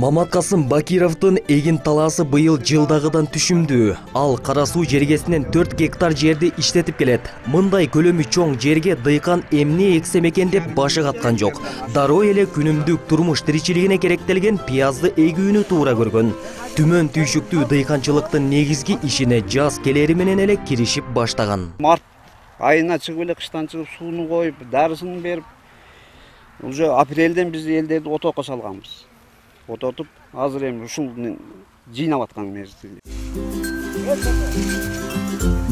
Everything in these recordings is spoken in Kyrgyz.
Маматкасым Бакировдун эгин талаасы быйыл жылдагыдан түшүмдүү. Ал Кара суу жергесинен 4 гектар жерди иштетип келет. Мындай көлөмү чоң жерге дыйкан эмне эксем экен деп башы каткан жок. Дароо эле күнүмдүк турмуш тиричилигине керектелген пиязды эгүүнү туура көргөн. Түмөн түйшүктүү дыйканчылыктын негизги ишине жаз келери менен эле киришип баштаган. Март айына чыгып эле кыштан чыгып сууну коюп, дарысын берип, уже апрелден биз элдерди отоокко салганбыз. Ототуп, азыр эми ушул жыйнап аткан мезгил.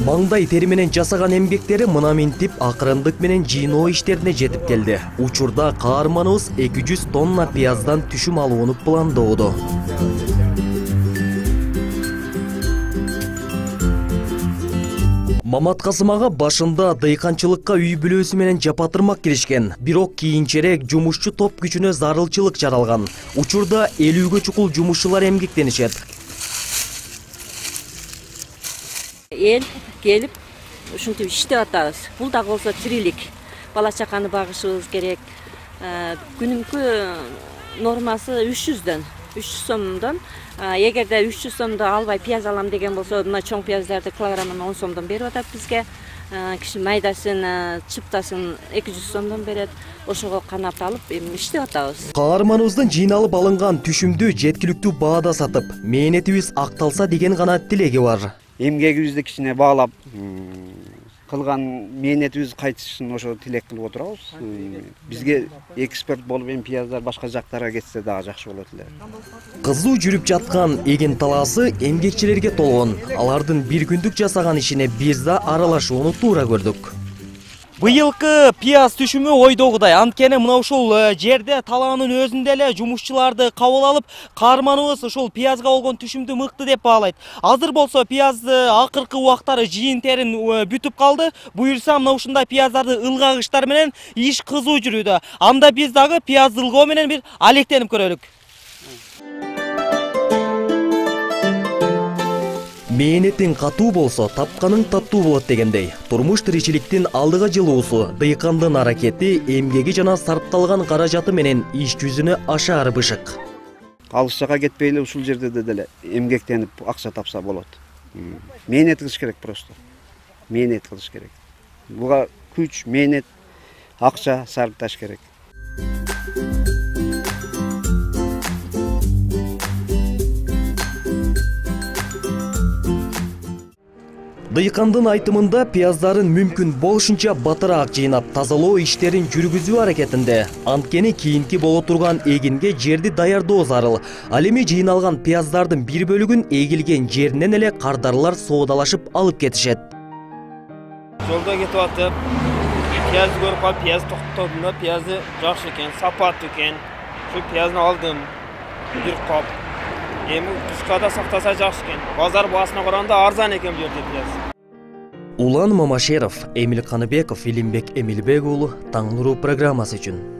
Маңдай тери менен жасаган эмгектери мына минтип акырындык менен жыйноо иштерине жетип келди. Учурда каарманыбыз 200 тонна пияздан түшүм алууну пландоодо. Маматкасым ага башында дыйканчылыкка үй бүлөсү менен жапатырмак киришкен. Бирок кийинчерээк жумушчу топ күчүнө зарылчылык жаралган. Учурда 50-гө чукул жумушчулар эмгектенишет. Эл келип, ушинтип иштеп атабыз. Бул дагы болсо тирилик. Бала чаканы багышыбыз керек. Күнүмкү нормасы 300 сомдон. Эгерде 300 сомдо албай пияз алам деген болсо, мына чоң пияздарды килограммына 10 сомдон берип атат бизге. Киши майдасын, чыптасын 200 сомдон берет. Ошого канап алып, эми иштеп атабыз. Каарманыбыздын жыйналып алынган түшүмдү жеткиликтүү баада сатып, мээнетибиз акталса деген гана тилеги бар. Эмгегибизди кичине баалап, кылган мээнетибиз кайтышын ошо тилек кылып отурабыз. Бизге экспорт болуп эми пияздар башка жактарга кетсе дагы жакшы болот эле. Кызуу жүрүп жаткан эгин талаасы эмгекчилерге толгон. Алардын бир күндүк жасаган ишине биз да аралашууну туура көрдүк. Быйылкы пияз түшүмү ойдогудай. Анткени мына ушул жерде талаанын өзүндө эле жумушчуларды кабыл алып, каарманыбыз ушул пиязга болгон түшүмдү мыкты деп баалайт. Азыр болсо пиязды акыркы убактары жыйын-терин бүтүп калды. Буюрса мына ушундай пияздарды ылгагычтар менен иш кызуу жүрүүдө. Анда биз дагы пиязды ылгоо менен бир алектенип көрөлүк. Мээнетиң катуу болсо, тапканың таттуу болот дегендей. Турмуш тиричиликтин алдыга жылуусу, дыйкандын аракети, эмгеги жана сарпталган каражаты менен иш жүзүнө ашаар бышык. Алыс жакка кетпей эле ушул жерде деле эмгектенип акча тапса болот. Мээнет кылыш керек просто. Мээнет кылыш керек. Буга күч, мээнет, акча сарпташ керек. Дыйкандын айтымында пияздарын мүмкүн болушунча батыраак жыйнап, тазалоо иштерин жүргүзүү аракетинде. Анткени кийинки боло турган эгинге жерди даярдоо зарыл. Ал эми жыйналган пияздардын бир бөлүгүн эгилген жеринен эле кардарлар соодалашып алып кетишет. Жолдо кетип атып, пияз көрүп калып, пияз токтодум да, пиязы жакшы экен, сапаттуу экен. Şu piyazını aldım, bir kap. Эми кышкада сактаса жакшы экен. Базар баасына караганда арзан экен бу жерде пияз. Улан Мамашеров, Эмил Каныбеков, Илимбек Эмилбек уулу, Таң нуру программасы үчүн.